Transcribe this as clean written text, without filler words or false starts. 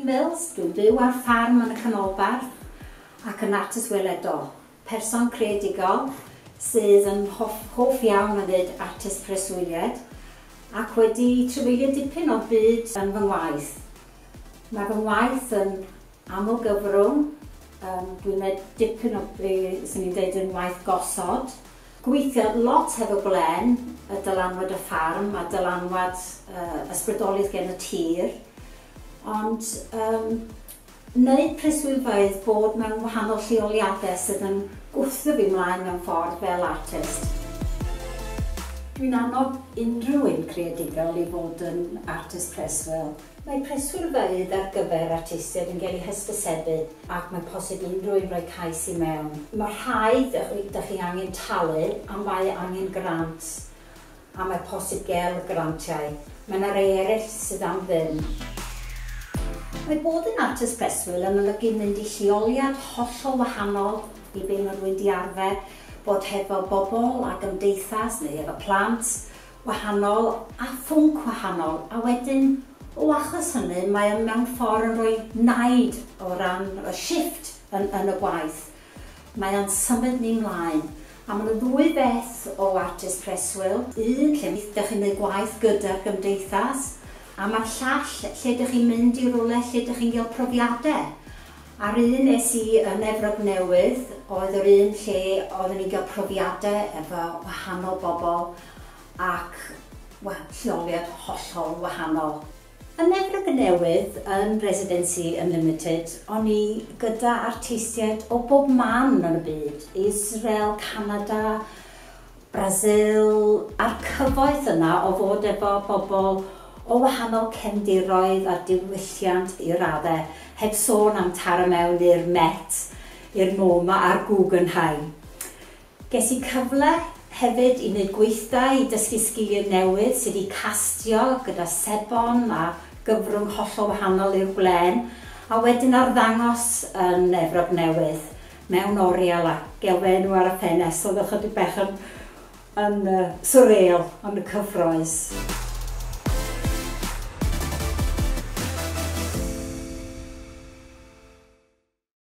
Mills, dwi'n byw ar ffarm yn y Canolbarth ac yn artist weledol, person creadigol sydd yn hoff iawn o wneud artist preswyliad ac wedi trafeilio dipyn o byd yn fy ngwaith. Mae fy ngwaith yn aml gyfrwng, dwi'n gwneud dipyn o be swn i'n dweud yn waith gosod. Gweithio lot hefo gwlen, y dylanwad y ffarm a dylanwad ysbrydoliaeth gen y tir. Ond wneud preswylfeydd bod mewn wahanol lleoliadau sydd yn gwthio fi mlaen mewn ffordd fel artist. Dwi'n annog unrhyw un creadigol i fod yn artist preswyl. Mae preswylfeydd ar gyfer artistiaid yn cael eu hysbysebu ac mae posib unrhyw un rhoi cais i mewn. Mae rhai dych chi angen talu a mae angen grant a mae posib gael grantiau. Mae yna rhai eraill sydd am ddim. Mae bod yn artist preswyl yn olygu mynd i lleoliad hollol wahanol i be mae rhywun di arfer, bod hefo bobl a gymdeithas neu efo plant wahanol a phwnc wahanol, a wedyn o achos hynny mae o mewn ffordd yn rhoi naid o ran y shift yn y gwaith. Mae o'n symud ni mlaen. A mae yna ddwy beth o artist preswyl. Un lle ydych chi'n gwneud gwaith gyda'r gymdeithas, a mae'r llall lle ydych chi'n mynd i rywle lle ydych chi'n cael profiadau. A'r un es i yn Efrog Newydd oedd yr un lle oeddwn i'n cael profiadau efo wahanol bobl ac lleoliad hollol wahanol. Yn Efrog Newydd, yn Residency Unlimited, o'n i gyda artistiaid o bob man yn y byd. Israel, Canada, Brazil, a'r cyfoeth yna o fod efo bobl o wahanol cefndiroedd a diwylliant i raddau, heb sôn am taro mewn i'r Met, i'r MoMA a'r Guggenheim. Ges i cyfle hefyd i wneud gweithdai, i dysgu sgiliau newydd sydd wedi castio gyda sebon a gyfrwng hollol wahanol i'r gwlen, a wedyn arddangos yn Efrog Newydd mewn oriel a gelfen nhw ar y ffenest, oedd ychydig bach yn surreal, ond y cyffroes.